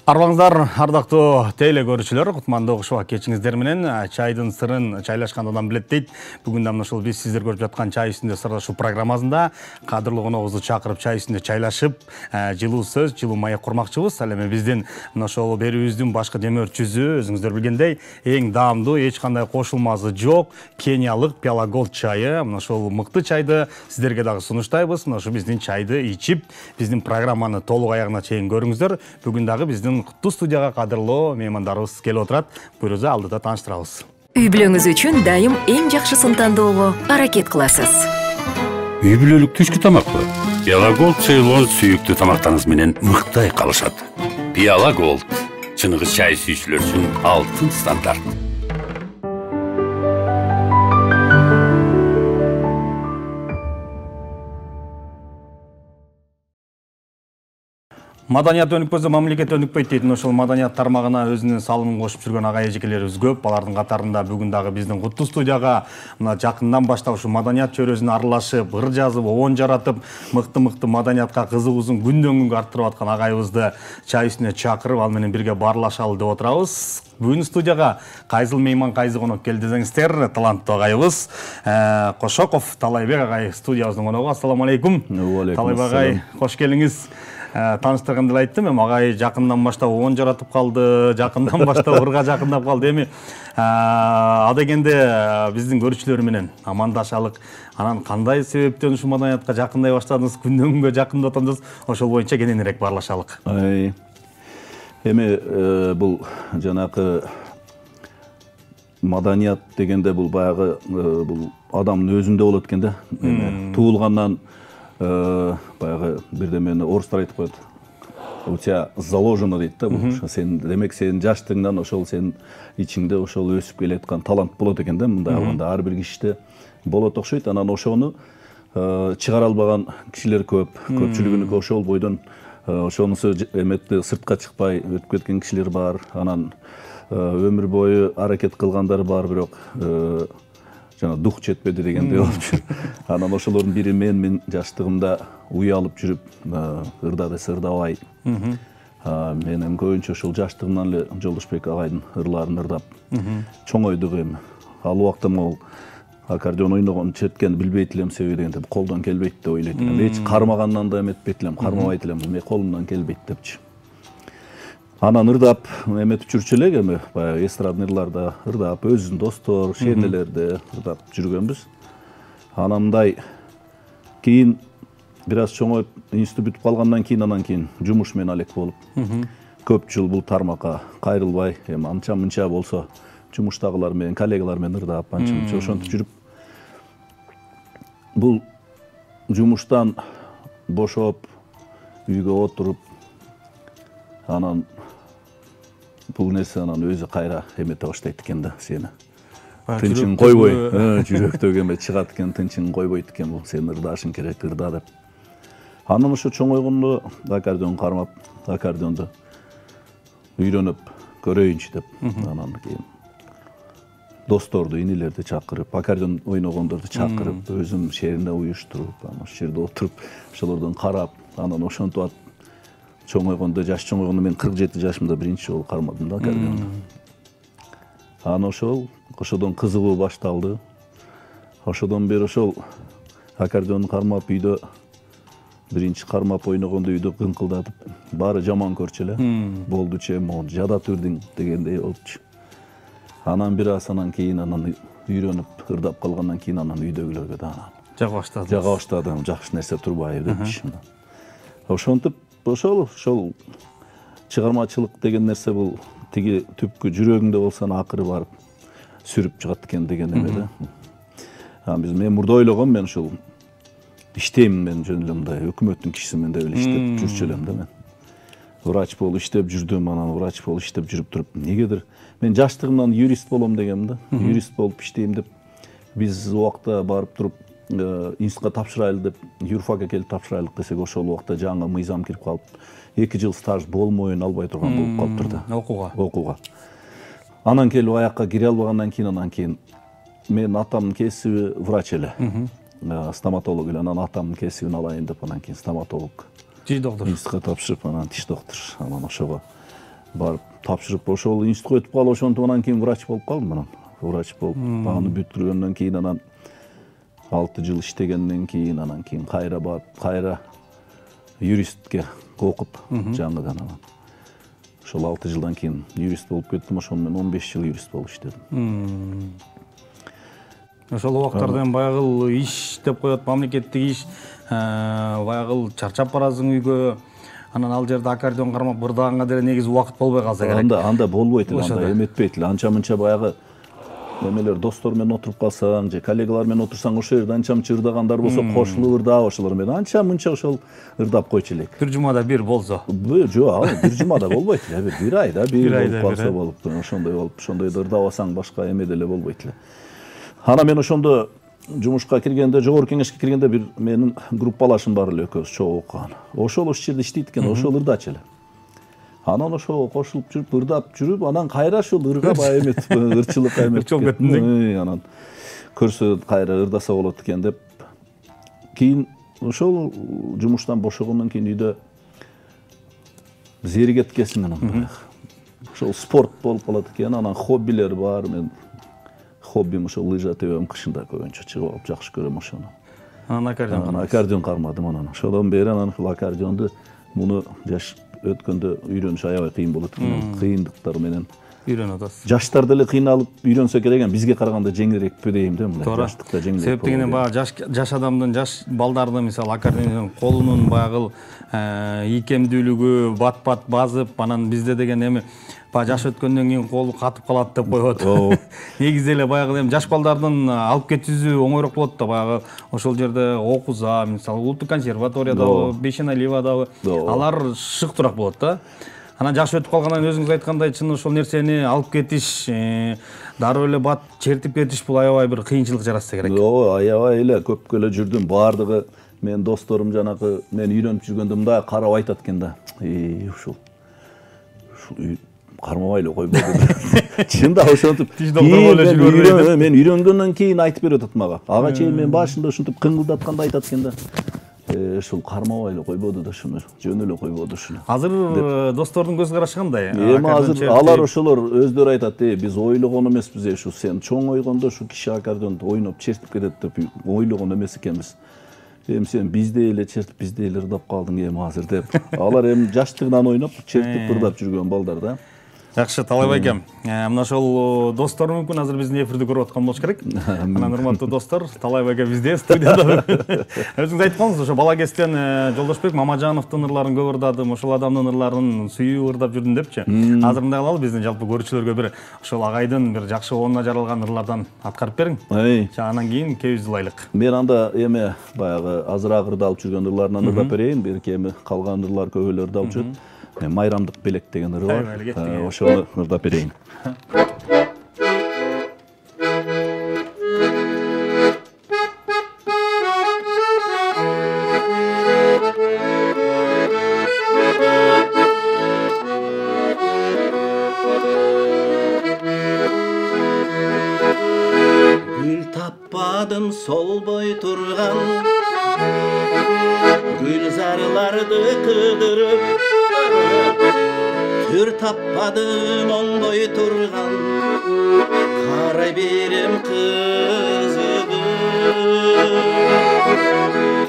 Арбаңыздар, ардактуу теле көрүүчүлөр, кутмандуу кушуба кечиңиздер менен чайдын сырын чайлашкандан билет дейт. Бүгүн да ушул биз сиздер көрүп жаткан чай үстүндө сырлашуу программасында кадырлуу коногубузду чакырып чай үстүндө чайлашып, жылуу сөз, жылуу маек курмакчыбыз. Ал эми биздин ошол берүүбүздүн башкы демөөрчүсү, өзүңүздөр билгендей, эң даамдуу, эч кандай кошулмасы жок, Кениялык Пиала Голд чайы. Ошол мыкты чайды сиздерге дагы сунуштайбыз. Ошо биздин чайды ичип, биздин программаны толук аягына чейин көрүңүздөр. Бүгүн дагы биздин куттуу студияга кадырлуу меймандарыбыз келип отурат. Буюрса алдыда тааныштырабыз. Үй бүлөңүз үчүн дайым эң жакшысын тандоого аракет кыласыз. Үй бүлөлүк түшкү тамакпы? Пиала Голд Ceylon сүйүктүү тамактарыңыз менен мыктай калышат. Пиала Голд чыныгы чай сүйүүчүлөр үчүн алтын стандарт. Маданият өнүкпөсө мамлекет өнүкпөйт дейт. Ошол маданият тармагына өзүнүн салымын кошуп жүргөн ага эжекелерибиз көп. Алардын катарында бүгүн дагы биздин куттуу студияга мына жакындан баштап ушу маданият чөйрөсүнө аралашып, ыр жазып, обон жаратып, мыкты маданиятка кызыгуусун күндөн күнгө арттырып аткан агайыбызды чай үстүнө чакырып, ал менен бирге баарлашалы деп отурабыз. Бүгүн студияга кайсыл мейман, кайсы конок келди десеңиздер, таланттуу агайыбыз Кошоков Талайбек агай студиябыздын коногу. Ассаламу алейкум. Талайбек агай, кош келиңиз. Тааныштырганда эле айттым, эми агай жакындан баштап обон жаратып калды, жакындан баштап ырга жакындап калды. Эми адегенде биздин көрүүчүлөр менен амандашалык. Анан кандай себептен ушу маданиятка жакындай баштадыңыз, күндөн күнгө жакындап атасыз, ошол боюнча кененирээк баарлашалык. Эми бул жанакы маданият дегенде бул баягы бул адамдын өзүндө болот экен да. Туулгандан баягы бирдемени орустар айтып коет. У тебя заложено дейт да. Сен демек сен жаштыгыңдан ошол сен ичиңде ошол өсүп келаткан талант болот экен да. Мындай алганда ар бир кишиде болот окшойт. Анан ошону чыгара албаган кишилер көп. Көпчүлүгүнүн ошол бойдон ошонусу эметти сыртка чыкпай өтүп кеткен кишилер бар. Анан өмүр бою аракет кылгандар бар, бирок жана дух жетпеди дегендей болуп жүр. Анан ошолордун бири мен жаштыгымда уялып жүрүп, ырда десе ырдабай. Мен көбүнчө ошол жаштыгымдан эле Жолдошбек агайдын ырларын ырдап чоңойдук эми. Ал убакта могул аккордеон ойногон четкени билбейт элем себеби дегенде колдон келбейт деп ойлойт элем. Эч кармагандан да эметпейт элем, кармабайт элем. Мен колумдан келбейт депчи. Анан ырдап эметип жүрчү элек, эми баягы эстрадный ырларда ырдап, өзүнүн достор, шенелерде ырдап жүргөнбүз. Анан мындай кийин бир аз чоңоюп, институт бүтүп калгандан кийин, анан кийин жумуш менен алек болуп, көп жыл бул тармакка кайрылбай, эми анча-мынча болсо жумуштагылар менен, коллегалар менен ырдап, анча-мынча ошентип жүрүп, бул жумуштан бошоп, үйгө отуруп, анан бул нерсе анан өзү кайра эмете баштайт экен да, сени. Тынчын койбой, жүрөктөгү эме чыгат экен, тынчын койбойт экен бул, сен ырдашың керек, ырда деп. Анан ошо чоңойгондо аккордеон кармап, аккордеонду үйрөнүп көрөйүнчү деп, анан кийин досторду, инилерди чакырып, аккордеон ойногондорду чакырып, өзүм шерине уюштуруп, анан ошол жерде отуруп, ошолордон карап, анан ошентип атып чоңойгондо, жаш чоңойгондо мен 47 жашымда биринчи жолу кармадым да аккордеонду. Анан ошодон кызыгуу башталды. Ошодон бери ошол аккордеонду кармап үйдө биринчи кармап ойногондо үйдө кыңкылдатып, баары жаман көрчү эле. Болдучу эми мону жадат үрдүң дегендей болчу. Анан бир аз анан кийин анан үйрөнүп ырдап калгандан кийин анан үйдөгүлөргө да жага баштадым. Жага баштадым, жакшы нерсе турбайбы депчи. Ошентип ошол чыгармачылык деген нерсе бул тиги түпкү жүрөгүңдө болсо акыры барып сүрүп чыгат экен деген эме да. Мен мурда ойлогом, мен ушул иштейм, мен жөн эле мындай өкмөттүн кишисимин деп эле иштеп жүрчү элем да мен. Врач болуп иштеп жүрдүм, анан врач болуп иштеп жүрүп туруп, негедир мен жаштыгымдан юрист болом дегем да. Юрист болуп иштейм деп биз убакта барып туруп институтка тапшырайлы деп, юрфакка келип тапшырайлык десек, ошол убакта жаңы мыйзам кирип калып, 2 жыл стаж болмойн албай турган болуп калыптыр да. Окууга. Анан келип аякка кире албагандан кийин, анан кийин мен атамдын кесиби врач эле. Стоматолог эле, анан атамдын кесибин алайын деп, анан кийин стоматолог Тиш доктор. Институтка тапшырып, анан тиш доктор. Анан ошого барып тапшырып ошол институтка өтүп калып ошентип анан кийин врач болуп калдым. Анан врач болуп аны бүттүргөндөн кийин анан 6 жыл иштегенден кийин анан кийин кайра барып кайра юристке окуп жаңыдан анан ошол 6 жылдан кийин юрист болуп кеттим. Ошону мен 15 жыл юрист болуп иштедим. Ошол убактарда эми баягы иш деп коет, мамлекеттик иш, баягы чарчап барасың үйгө, анан ал жерде аккордеон кармап бырдаганга деле негизи убакыт болбой калса керек. Анда болбойт эле, анда эметпейт эле. Анча-мынча баягы эмелер достор менен отуруп калсаң же коллегалар менен отурсаң ошол жерде анча-мынча ырдагандар болсо кошулуп ырдап ошолор менен анча-мынча ошол ырдап койчу элек. Бир жумада бир болсо. Жок, бир жумада болбойт эле, бир айда бир болуп калса болуп, ошондой болуп, ошондойдо ырдабасаң башка эме деле болбойт эле. Анан мен ошондо жумушка киргенде, жогорку кеңешке киргенде бир менин группалашым бар эле, экөөбүз чогуу окуган. Ошол жерде иштейт экен, ошол ырдачу эле. Анан ошого кошулуп жүрүп, ырдап жүрүп, анан кайра ушул ырга баягы эмет, ырчылыкка эмет. Анан көрсө кайра ырдаса болот экен деп. Кийин ошол жумуштан бошогондон кийин үйдө зеригет кеткесиң анан баягы. Ошол спорт болуп калат экен, анан хоббилер бар. Мен хоббим ошол лыжа тебем, кышында көбүнчө чыгып алып жакшы көрөм ошону. Анан аккордеон кармадым анан. Ошодон бери анан ушул аккордеонду муну жаш өткөндө үйрөнүш аябай кыйын болот экен. Кыйындыктар менен үйрөнүп атасыз. Жаштар деле кыйналып үйрөнсө керек экен, бизге караганда жеңилирекпи дейм да, мындай жаштыкта жеңилирээк. Себеп дегенде баягы жаш адамдын, жаш балдардын мисалы аккордеон колунун баягы ийкемдүүлүгү бат-бат базып, анан бизде деген эми баягы жаш өткөндөн кийин колу катып калат деп коет. Негизи эле баягы эми жаш балдардын алып кетүүсү оңойрок болот да, баягы ошол жерде окуза, мисалы улуттук консерваториядабы, Бешеналиевадабы, алар шыктуураак болот да. Анан жаш өтүп калгандан өзүңүз айткандай чын ошол нерсени алып кетиш, дароо эле бат чертип кетиш бул аябай бир кыйынчылык жаратса керек. Аябай эле көпкө эле жүрдүм. Баардыгы мен досторум жанагы мен үйрөнүп жүргөндө мындай карап айтат экен да. Ушул кармабай эле койбойду. Чында ошентип мен үйрөнгөндөн кийин айтып берип атат мага. Ага чейин мен башында ушинтип кыңгылдатканда айтат экен да. Ушул кармабай эле койбоду да, шуну жөн эле койбоду шуну. Азыр достордун көз карашы кандай? Эми азыр алар ошолор өздөрү айтат, биз ойлогон эмеспиз, ушу сен чоң ойгондо ушу киши аккордеонду ойноп чертип кетет деп ойлогон эмес экенбиз. Эми сен бизде эле чертип, бизде эле ырдап калдың эми азыр деп. Алар эми жаштыгынан ойноп чертип ырдап жүргөн балдар да. Жакшы, Талай байкем. Мына ошол достор мүмкүн азыр биздин эфирди көрүп аткан болуш керек. Анан урматтуу достор, Талай байке бизде студияда. Өзүңүз айтып калыңыз, ошо бала кезден Жолдошбек Мамажановдун ырларын көп ырдадым, ошол адамдын ырларын сүйүп ырдап жүрдүм депчи. Азыр мындай кылалы, биздин жалпы көрүүчүлөргө бир ошол агайдын бир жакшы оонуна жаралган ырлардан аткарып бериң. Анан кийин кебиз ылайлык. Мен анда эме баягы азыраак ырдалып жүргөн ырларынан ырдап берейин, берки эми калган ырлар көп эле ырдалып жүрөт. Майрамдык белек деген ыры бар. Ошону ырдап берейин. Гүл таппадым солбой турган, гүлзарларды кыдырып, түр таппадым оңбой турган, карай берем кызыгып.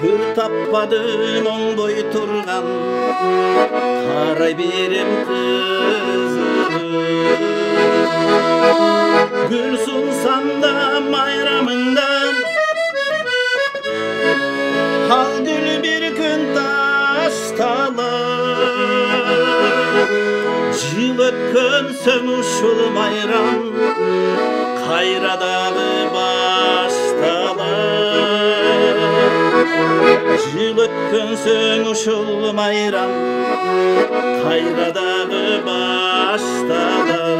Түр таппадым оңбой турган, карай берем кызыгып. Гүл сунсам да майрамыңда, ал гүл бир күн ташталар. Жыл өткөн соң ушул майрам кайрадагы башталар. Жыл өткөн соң ушул майрам кайрадагы башталар.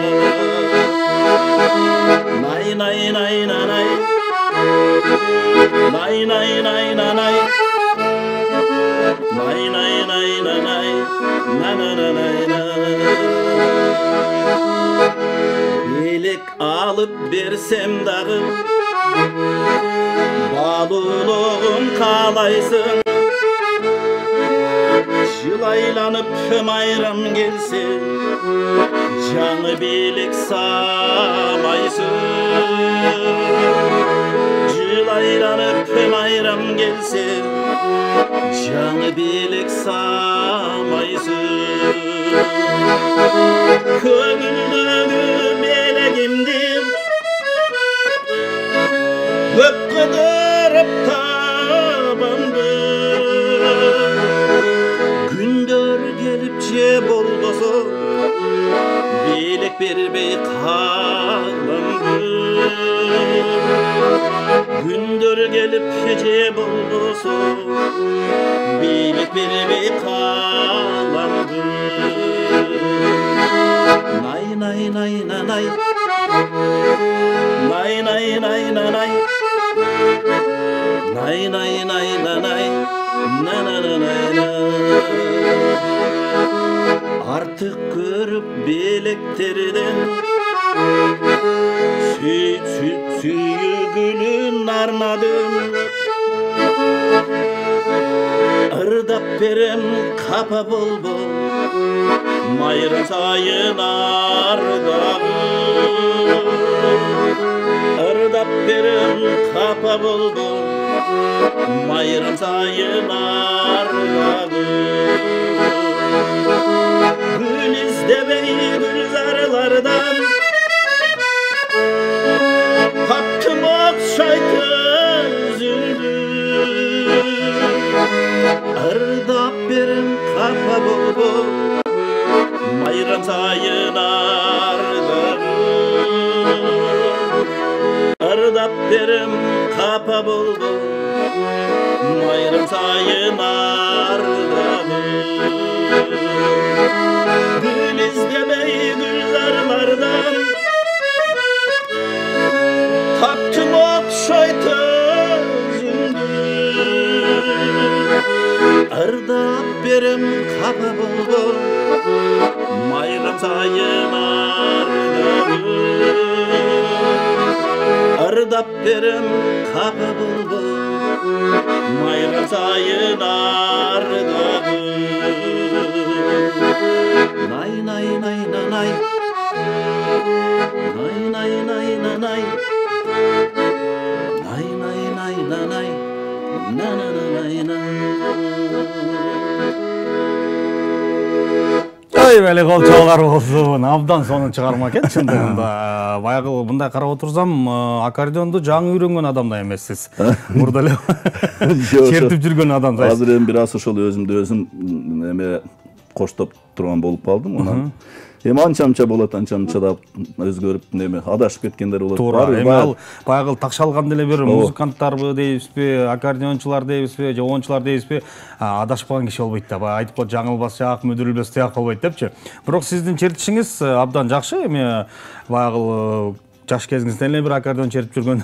Nay nay nay nay, nay nay nay nay, nay nay nay nay, na na na na. Белек алып берсем дагы, балулугун каалайсың. Жыл айланып майрам келсе, жаңы белек самайсың. Жыл айланып майрам келсе, жаңы белек самайсың. Көңілдегі белегімді көп қыдырып табамды. Күндер келіп же болбосо, белек бербей қаламды. Күндер келіп же болбосо, белек бербей қаламды. Nay nay nay nay nay, nay nay nay nay nay, nay nay nay nay nay, na na na na na. Artık görüp belekterden süyügülün arnadım. Irdap berem kapa bol bol, mayra sayın ardağım. Irdap berem kapa bol bol, mayra sayın ardağım. Gül izlemey gülzarlardan, taktım okşaytı üzüldü. Irdap berem kapa bol bol, mayram sayın ardağım. Irdap berem kapa bol bol, mayram sayın ardağım. Gül izlemey gülzarlardan, taktım okşaytı üzüldü. Irdap berem kapa bol bol, mayram sayın ardağım. Irdap berem kapa bol bol, mayram sayın ardağım. Nay nay nay nay nay, nay nay nay nay nay, nay nay nay nay nay, na na na nay na. Ой, бәле қол чалғар болсын. Абдан соны чыгарма экен чындыгында. Баягы мындай карап отурсам, аккордеонду жаңы үйрөнгөн адам да эмессиз. Мурда эле чертип жүргөн адам да. Азыр эми бир аз ошол өзүмдү өзүм эме коштоп турган болуп калдым. Анан эми анча болот, анча чыдап өзгөрүп неме адашып кеткендер болот. Туура. Эми ал баягы такшалган деле бир музыканттарбы дейбизби, аккордеончулар дейбизби, же оончулар дейбизби, адашып калган киши болбойт да. Баягы айтып коет, жаңылбас жак, мүдүрүлбөс тияк болбойт депчи. Бирок сиздин чертишиңиз абдан жакшы. Эми баягы жаш кезиңизден эле бир аккордеон чертип жүргөн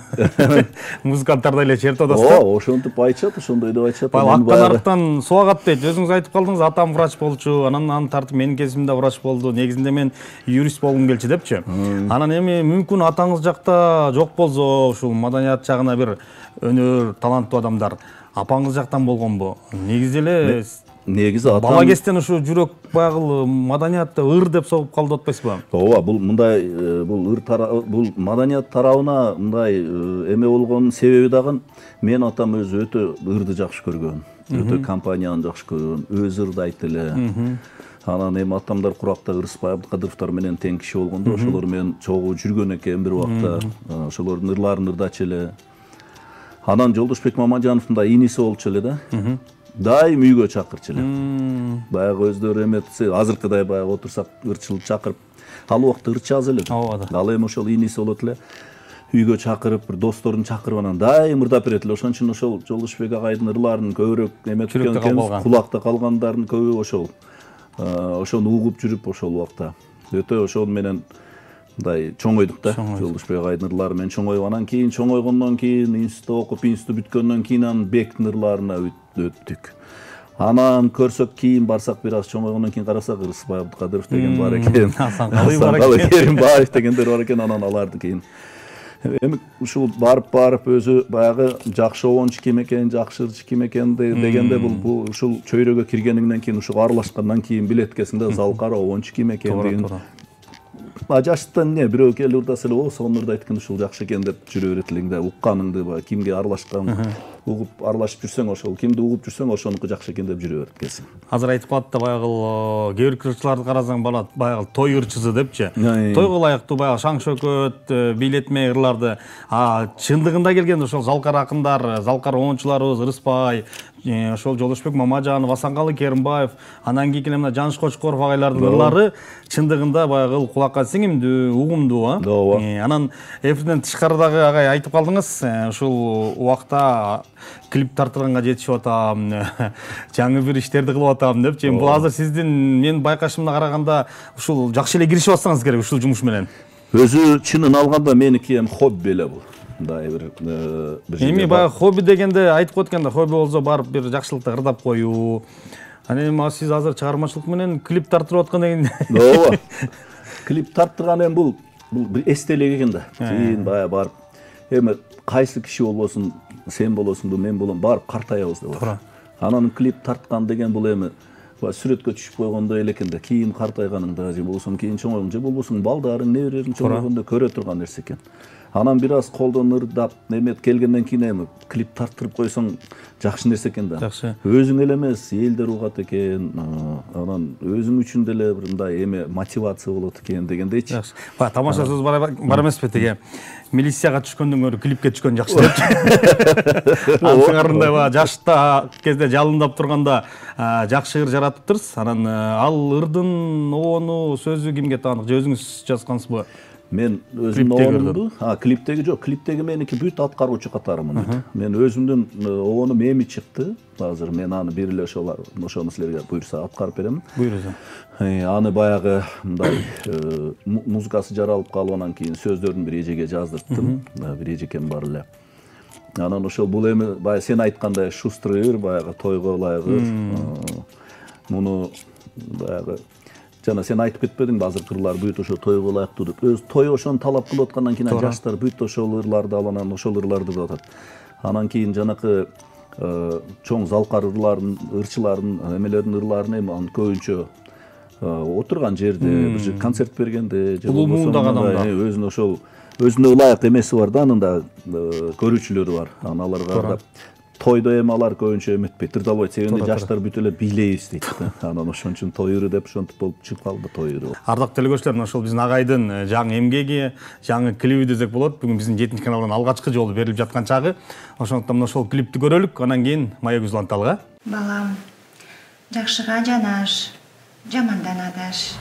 музыканттардай эле чертип атасыз да. Ошентип айтышат, ошондой деп айтышат. Аттан арыктан суу агат дейт. Өзүңүз айтып калдыңыз, атам врач болчу, анан аны тартып менин кезимде врач болду. Негизинде мен юрист болгум келчү депчи. Анан эми мүмкүн атаңыз жакта жок болсо, ушул маданият жагына бир өнөр, таланттуу адамдар апаңыз жактан болгонбу? Негизи эле негизи атам бала кезден ушу жүрөк баягы маданиятты ыр деп согуп калды деп атпайсызбы? Ооба, бул мындай бул бул маданият тарабына мындай эме болгонун себеби дагы мен атам өзү өтө ырды жакшы көргөн, өтө компанияны жакшы көргөн, өзү ырды айтты эле. Анан эми атамдар куракта Ырысбай Абдыкадыровдор менен тең киши болгондо, ошолор менен чогуу жүргөн экен бир убакта. Ошолордун ырларын ырдачу эле. Анан Жолдошбек Мамажановдун да иниси болчу эле да. Дайым үйгө чакырчу эле. Баягы өздөрү эметсе, азыркыдай баягы отурсак ырчылып чакырып, ал убакта ырчы аз эле. Ал эми ошол иниси болот эле. Үйгө чакырып, бир досторун чакырып анан дайым ырдап берет эле. Ошон үчүн ошол Жолдошбек агайдын ырларын көбүрөөк эметип кеткен, кулакта калгандарын көбү ошол. Ошону угуп жүрүп ошол убакта. Өтө ошол менен мындай чоңойдук да. Жолдошбек агайдын ырлары менен чоңоюп, анан кийин чоңойгондон кийин институтта окуп, институт бүткөндөн кийин анан Бектин ырларына өттүк. Анан көрсөк кийин барсак бир аз чоңойгондон кийин карасак Ырысбай Абдыкадыров деген бар экен. Асан Керимбаев дегендер бар экен. Анан аларды кийин эми ушул барып өзү баягы жакшы обончу ким экен, жакшы ырчы ким экен дегенде бул ушул чөйрөгө киргениңден кийин ушул аралашкандан кийин билет экенсиң да, залкар обончу ким экен деген. Жаштан эмне бирөө келип урдаса эле, сонун ырдайт экен, ушул жакшы экен деп жүрө берет элең да, укканыңды баягы кимге аралашкан, угуп аралашып жүрсөң ошол, кимди угуп жүрсөң ошонуку жакшы экен деп жүрө берет экенсиң. Азыр айтып калат да баягы кээ бир ырчыларды карасаң балат баягы той ырчысы депчи. Тойго ылайыктуу баягы шаң шөкөт, бийлетме ырларды. Чындыгында келгенде ошол залкар акындар, залкар оончуларыбыз Ырыспай, ошол Жолдошбек Мамажанов, Асанкалы Керимбаев, анан кийин мына Жаныш Кочкоров агайлардын ырлары чындыгында баягы кулакка сиңимдүү, угумдуу. Анан эфирден тышкарыдагы агай айтып калдыңыз, ушул убакта клип тартырганга жетишип атам, жаңы бир иштерди кылып атам депчи. Бул азыр сиздин мен байкашымда караганда ушул жакшы эле киришип атсаңыз керек ушул жумуш менен. Өзү чынын алганда меники эми хобби эле бул. Мындай бир эми баягы хобби дегенде айтып коет экен да, хобби болсо барып бир жакшылыкты ырдап коюу. Анан эми сиз азыр чыгармачылык менен клип тартырып аткан деген. Ооба. Клип тарттырган эми бул бир эстелик экен да. Кийин баягы барып эми кайсы киши болбосун, сен болосуңбу, мен болом, барып картаябыз деп. Анан клип тарткан деген бул эми сүрөткө түшүп койгондой эле экен да. Кийин картайганыңда же болбосо кийин чоңойгоң же болбосо балдарың, неберелериң чоңойгондо көрө турган нерсе экен. Анан бир аз колдон ырдап, немет келгенден кийин эми клип тарттырып койсоң жакшы нерсе экен да. Өзүң эле эмес, элдер угат экен. Анан өзүң үчүн деле бир мындай эме мотивация болот экен дегендейчи. Тамаша сөз бар эмеспи теге. Милицияга түшкөндөн көрө клипке түшкөн жакшы депчи. Аңсыңарындай жашта кезде жалындап турганда жакшы ыр жаратыптырсыз. Анан ал ырдын обону сөзү кимге таанык? Же өзүңүз жазгансызбы? Мен өзүмдүн обонумду, клиптеги жок, клиптеги меники бүт аткаруучу катарымын. Мен өзүмдүн обонум эми чыкты. Азыр мен аны бир эле ошону силерге буйрса аткарып берем. Буйруза. Аны баягы мындай музыкасы жаралып калып, анан кийин сөздөрүн бир эжеге жаздырттым. Бир эжекем бар эле. Анан ошол бул эми баягы сен айткандай шустрый ыр, баягы тойго ылайык ыр. Муну баягы жана сен айтып кетпедиңби, азыркы ырлар бүт ошо тойго ылайыктуу деп. Өз той ошону талап кылып аткандан кийин жаштар бүт ошол ырларды алып, анан ошол ырларды деп атат. Анан кийин жанакы чоң залкар ырлардын, ырчылардын, эмелердин ырларын эми көбүнчө отурган жерде, бир концерт бергенде же болбосо өзүнө ошол өзүнө ылайык эмеси бар да, анын да көрүүчүлөрү бар. Анан аларга ырдап тойдо эми алар көбүнчө эметпейт, ырдалбайт. Себеби жаштар бүт эле бийлейбиз дейт да. Анан ошон үчүн той ыры деп ошентип болуп чыгып калды той ыры. Ардактуу телекөрүүчүлөр, ошол биздин агайдын жаңы эмгеги, жаңы клиби десек болот. Бүгүн биздин 7-чи каналдан алгачкы жолу берилип жаткан чагы. Ошондуктан ошол клипти көрөлүк, анан кийин маек үзүланталык. Балам, жакшыга жанаш, жамандан адаш.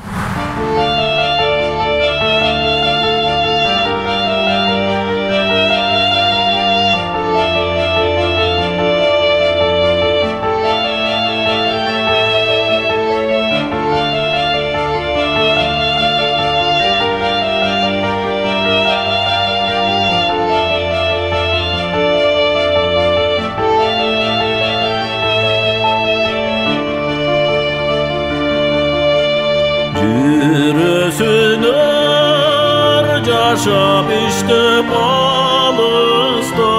Yaşap işte balısda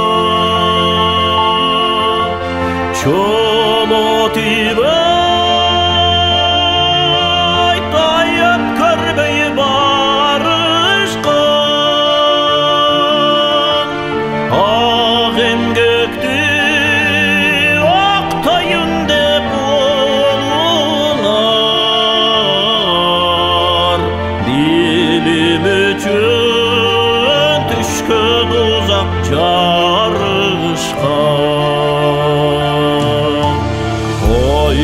Çolot ibay Tayyip körbeyi barışkan Ağın göktü Oktayın dep olunar Dilim üçün Jarışkan Oy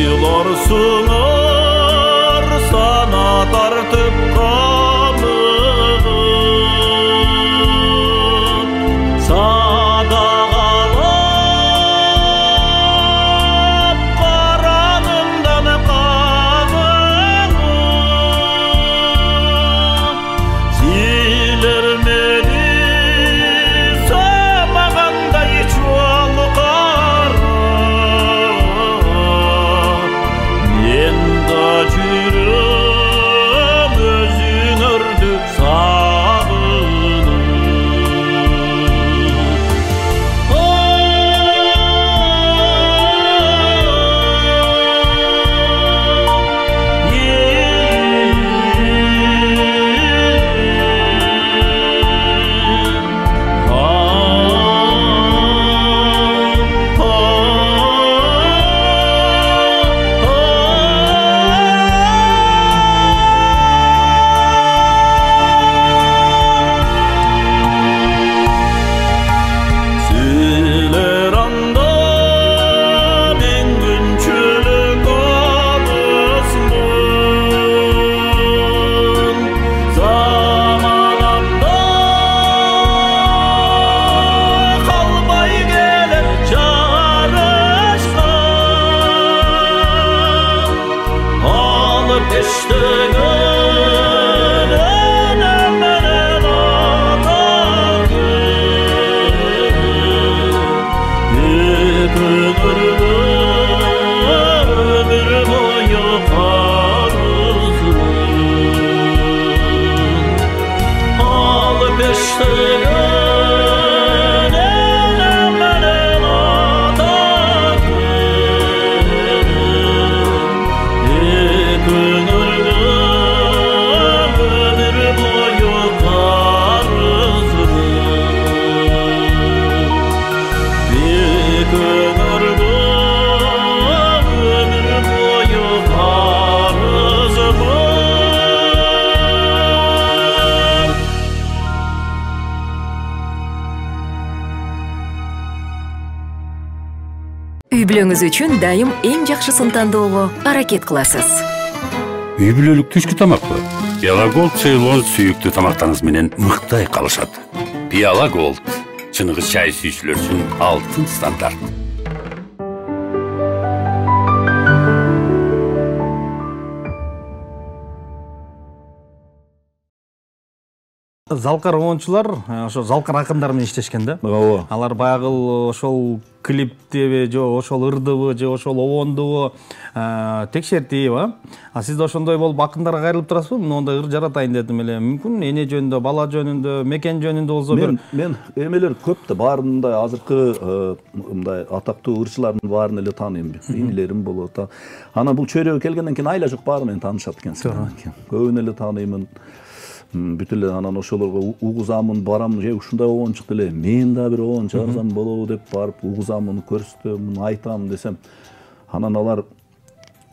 ömür boyu karızım al peşten ellerin atakın ömür boyu karızım Үй бүлөңүз үчүн дайым эң жакшысын тандоого аракет кыласыз. Үй бүлөлүк түшкү тамакпы? Пиала Голд Ceylon сүйүктүү тамактарыңыз менен мыктай калышат. Пиала Голд чыныгы чай сүйүүчүлөр үчүн алтын стандарт. Залкар оончулар ошо залкар акындар менен иштешкен да. Ооба. Алар баягы ошол клиптеби же ошол ырдыбы же ошол обондубу текшертип, а сиз да ошондой болуп акындарга кайрылып турасызбы? Моундай ыр жаратайын дедим эле. Мүмкүн эне жөнүндө, бала жөнүндө, мекен жөнүндө болсо бир. Мен эмелер көп да, баарындай азыркы мындай атактуу ырчылардын баарын эле тааныйм. Инилерим болот. Анан бул чөйрөгө келгенден кийин айла жок баары менен таанышат экенсиң. Көбүн эле тааныймын. Бүт эле анан ошолорго угузамын, барам, же ушундай обон чыкты эле. Мен да бир обон чыгарсам болобу деп барып угузамын, көрсөтөм, айтам десем, анан алар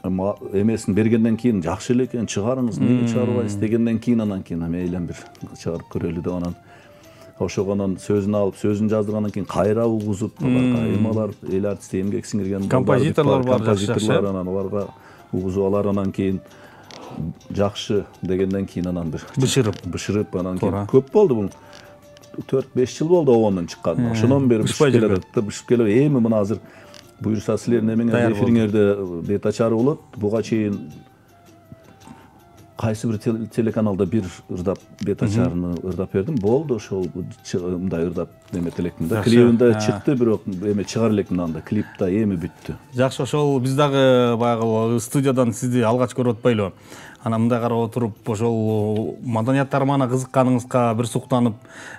эмесин бергенден кийин жакшы эле экен, чыгарыңыз, эмне чыгарбайсыз дегенден кийин анан мейлен бир чыгарып көрөлү деп анан ошого анан сөзүн алып, сөзүн жаздыргандан кийин кайра угузуп, алар эл артисте эмгек сиңирген композиторлор бар, композиторлор анан аларга угузуп алар анан кийин жакшы дегенден кийин анан бир бышырып анан кийин көп болду бул 4-5 жыл болду обондон чыккан. Ошондон бери бышып келет. Эми мына азыр буюрса силердин эмеңерде эфириңерде бет ачары болот. Буга чейин кайсы бир телеканалда бир ырдап бет ачарыны ырдап бердим. Болду ошол мындай ырдап эметип электим да. Клибинде чыкты, бирок эме чыгар электим анда. Клип да эми бүттү. Жакшы, ошол биз дагы баягы студиядан сизди алгач көрүп атпайлы. Анан мындай карап отуруп, ошол маданият тармагына кызыкканыңызга бир суктанып,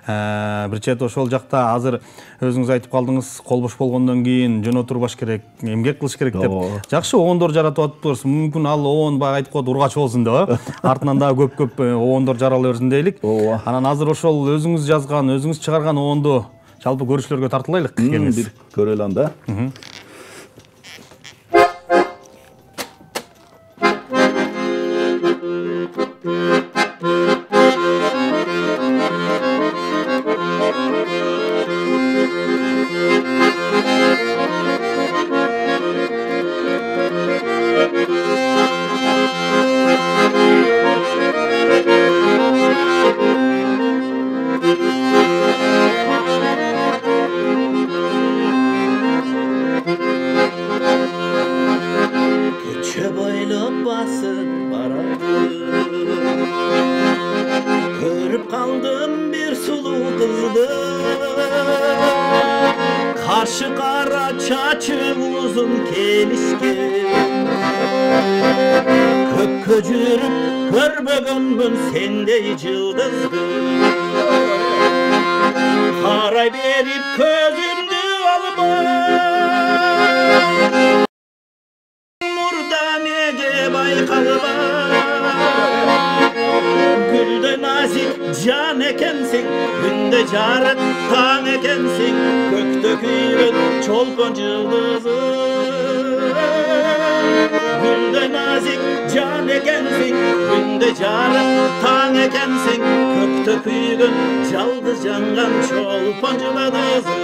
бир чет ошол жакта азыр өзүңүз айтып калдыңыз, кол бош болгондон кийин жөн отурбаш керек, эмгек кылыш керек деп. Жакшы обондор жаратып атыптырсыз. Мүмкүн ал обон баягы айтып коет ургач болсун деп, артынан дагы көп обондор жарала берсин дейлик. Анан азыр ошол өзүңүз жазган, өзүңүз чыгарган обонду жалпы көрүүчүлөргө тартылайлык. Бир көрөлү анда. Karşı kara çaçı uzun kelişken Köpkö жүрүп көрбөгөнмүн сендей жылдызды Карай берип көзүмдү алма Мурда неге байкалба Гүлдөй назик жан экенсиң Күндө жарык таң экенсиң Көктө күйгөн чолпон жылдызы Гүлдөй назик жан экенсиң Күндө жарык таң экенсиң Көктө күйгөн жалгыз жанган чолпон жылдызы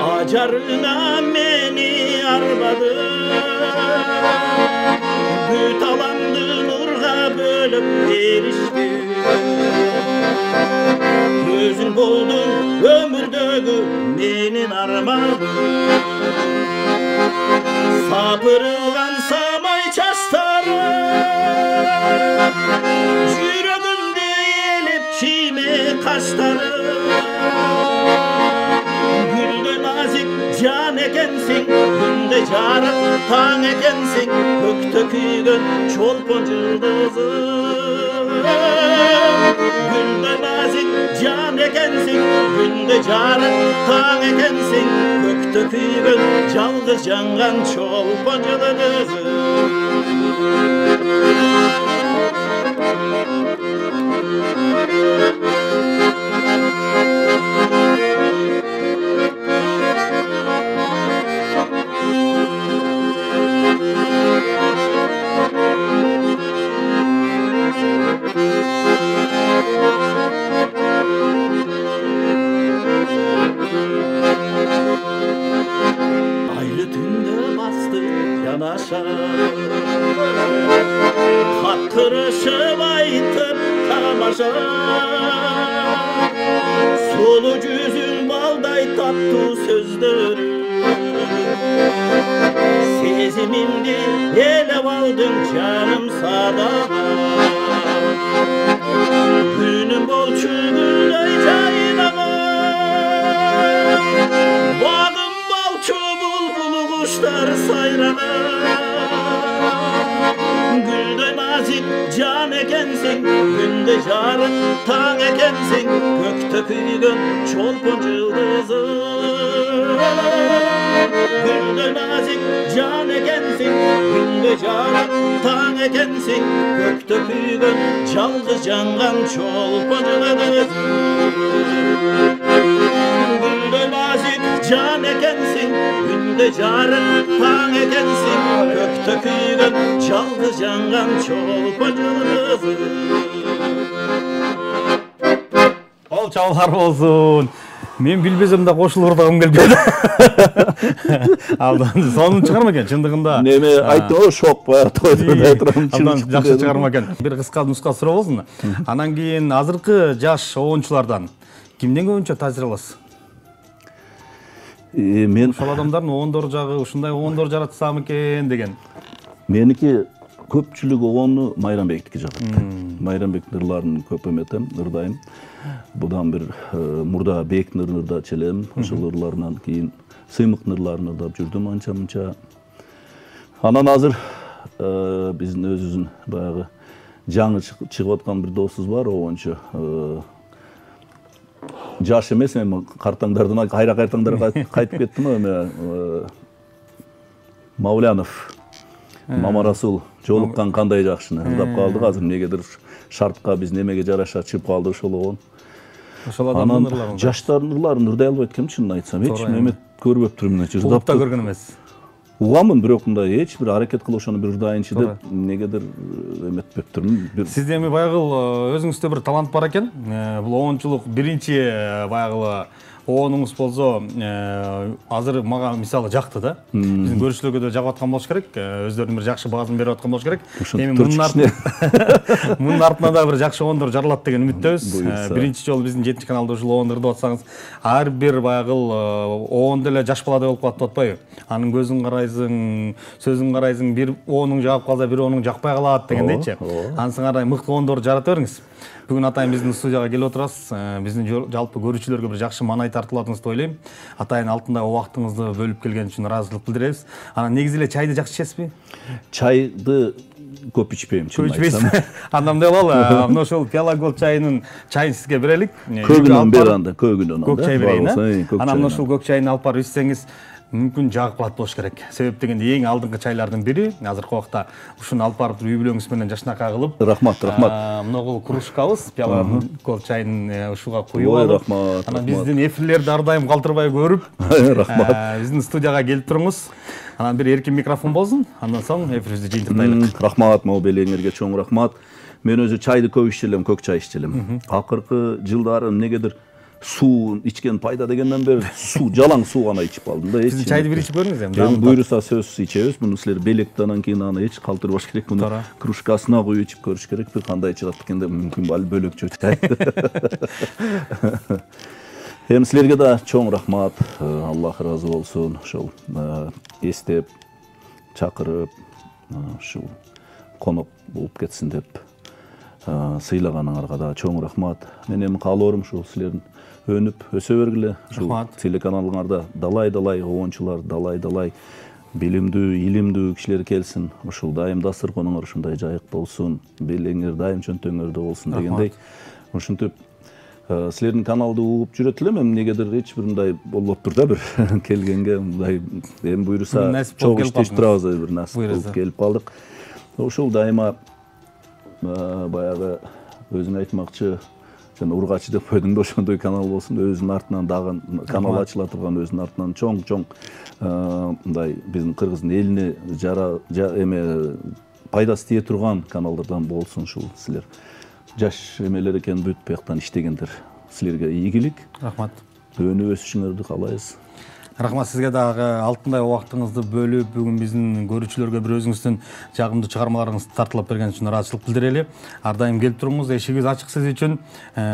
Acarına meni arbadı Büt alandı nurga bölüp verişti Gözün boldun ömürdögü meni менин арманым. Сапырылган самай чачтары жүрөгүмдү элеп чийме каштары. Гүлдөй назик жан экенсиң, күндө жарык таң экенсиң, көктө күйгөн чолпон жылдызым. Гүлдөй назик жан экенсиң, күндө жарык таң экенсиң, көктө күйгөн жалгыз жанган чолпон жылдызым. Айлы түндө басты жанаша, каттырышып айтып тамаша. Сулуу жүзүң балдай таттуу сөздөрү, сезимимди элеп алдың жаным садага. Күнүм болчу гүлдөй жайнаган, багым болчу булбул куштар сайраган. Гүлдөй назик жан экенсиң, күндө жарык таң экенсиң, көктө күйгөн чолпон жылдызым. Гүлдөй назик жан экенсиң, күндө жарык таң экенсиң, көктө күйгөн жалгыз жанган чолпон жылдызым. Гүлдөй назик жан экенсиң, күндө жарык таң экенсиң, көктө күйгөн жалгыз жанган чолпон жылдызым. Ол чабалар болсун. Мен билбесем да кошулурдагым келбейт. Абдан сонун чыгарма экен чындыгында. Неме айттым, шок баягы тойдо турам. Абдан жакшы чыгарма экен. Бир кыска нуска суроо болсун. Анан кийин азыркы жаш оончулардан кимден көбүнчө таасир аласыз? Мен Ошол адамдардын оондору жагы ушундай оондор жаратсам экен деген. меники көпчүлүк оону Майрамбектики жагат. Майрамбектин ырларын көп эметем, ырдайм. Будан бир мурда Бектин ырын ырдап челем, ошол ырларынан кийин Сыймыктын ырларын ырдап жүрдүм анча-мынча. Анан азыр биздин өзүбүздүн баягы жаңы чыгып аткан бир досубуз бар, оончу. Жаш эмес, эми картаңдардан кайтаңдар кайтып кеттим эми. Маулянов Мамарасул жолуккан кандай жакшыны ырдап калдык. Азыр эмнегедир шартка биз немеге жараша чыгып калды ошол оон. Ошол адамдын ырларын. Жаштардын ырларын ырдай албайт экенмин, чынын айтсам. Эч эме көрбөптүрмүн, Угуп да көргөн эмес. Угамын, бирок мындай эч бир аракет кылып ошону бир ырдайынчы деп эмнегедир эметпептирмин. Сизде эми баягы өзүңүздө бир талант бар экен. Бул оончулук биринчи баягы оонуңуз болсо азыр мага мисалы жакты да. Биздин көрүүчүлөргө да жагып аткан болуш керек. Өздөрүнүн бир жакшы баазын берип аткан болуш керек. Эми мунун артынан да бир жакшы оондор жаралат деген үмүттөбүз. Биринчи жолу биздин 7 каналда ушул оон ырдап атсаңыз, ар бир баягы оон деле жаш баладай болуп калат деп атпайбы? Анын көзүн карайсың, сөзүн карайсың, бир оонуң жагып калса, бир оонуң жакпай калат дегендейчи. Анысың карай мыкты оондорду жарата бериңиз. Бүгүн атайын биздин студияга келип отурасыз. Биздин жалпы көрүүчүлөргө бир жакшы маанай тартылат деп ойлойм. Атайын алтындай убактыңызды бөлүп келген үчүн ыраазычылык билдиребиз. Анан негизи эле чайды жакшы ичесизби? Чайды көп ичпейм, чын айтсам. Андан делалы, мына ошол Пиала Голд чайынын чайын сизге берелик. Көгүнөн бери анда, көгүнөн анда. Көк чай берейин. Анан ошол көк чайын алып барып ичсеңиз, мүмкүн жагып калат болуш керек. Себеп дегенде эң алдыңкы чайлардын бири. Азыркы убакта ушуну алып барып үй бүлөңүз менен жашнакай кылып. Рахмат. Мынагул кружкабыз Пиала Голд чайын ушуга куюп алып. Рахмат. Анан биздин эфирлерди ар дайым калтырбай көрүп, рахмат. Биздин студияга келип туруңуз. Анан бир эркин микрофон болсун. Андан соң эфирибизди жыйынтыктайлык. Рахмат, мообелеңерге чоң рахмат. Мен өзү чайды көп ичелем, көк чай ичелем. Акыркы жылдары эмнегедир суу ичкен пайда дегенден бери жалаң суу гана ичип калдым да. Сиз чайды бир ичип көрүңүз эми. Буйруса сөзсүз ичебиз. Муну силер белекти анан кийин аны эч калтырбаш керек. Муну кружкасына куюп ичип көрүш керек. Бир кандай чыгат экенде мүмкүн бөлөкчө чай. Эми силерге да чоң рахмат. Аллах ыраазы болсун. Ошол эстеп, чакырып, ушул конок болуп кетсин деп сыйлаганыңарга да чоң рахмат. Мен эми каалоорум ушул силердин өнүп өсө бергиле. Ушул телеканалыңарда далай обончулар, далай билимдүү, илимдүү кишилер келсин. Ушул дайым дасырконуңар ушундай жайык болсун, белеңер дайым чөнтөңөрдө болсун дегендей. Ушинтип силердин каналды угуп жүрөт элем, эми негедир эч бир мындай болбоптур да, бир келгенге мындай эми буйруса чогуу иштешип турабыз, бир насип болуп келип калдык. Ушул дайыма баягы өзүң айтмакчы, сен ургачы деп койдуң да, ошондой канал болсун, өзүнүн артынан дагы канал ачыла турган, өзүнүн артынан чоң мындай биздин кыргыздын элине эме пайдасы тие турган каналдардан болсун. Ушул силер жаш эмелер экен, бүт бияктан иштегендер. Силерге ийгилик. Рахмат. Өнүп өсүшүңөрдү каалайбыз. Рахмат сизге дагы алтындай убактыңызды бөлүп, бүгүн биздин көрүүчүлөргө бир өзүңүздүн жагымдуу чыгармаларыңызды тартылап берген үчүн ыраазычылык билдирели. Ар дайым келип туруңуз, эшигибиз ачык сиз үчүн.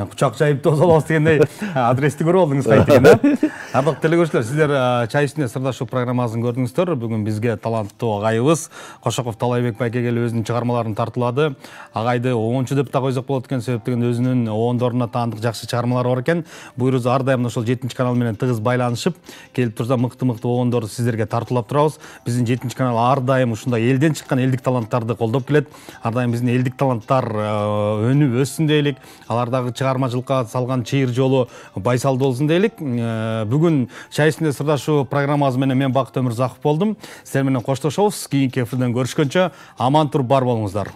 Кучак жайып тосо алабыз дегендей адрести көрүп алдыңыз кайтекен, да? Ардактуу телекөрүүчүлөр, сиздер чай үстүнө сырдашуу программасын көрдүңүздөр. Бүгүн бизге таланттуу агайыбыз Кошоков Талайбек байке келип өзүнүн чыгармаларын тартуулады. Агайды обончу деп да койсок болот экен, себеп деген өзүнүн обондоруна таандык жакшы чыгармалары бар экен. Буйрузу ар дайым ошол 7 канал менен тыгыз байланышып, келип турса мыкты обондорду сиздерге тартуулап турабыз. Биздин 7 канал ар дайым ушундай элден чыккан элдик таланттарды колдоп келет. Ар дайым биздин элдик таланттар өнүп өссүн дейлик. Алардагы чыгармачылыкка салган чыйыр жолу байсалдуу болсун дейлик. Бүгүн чай үстүндө сырдашуу программасы менен мен Бакыт Өмүрзаков болдум. Сиздер менен коштошобуз. Кийинки эфирден көрүшкөнчө аман туруп бар болуңуздар.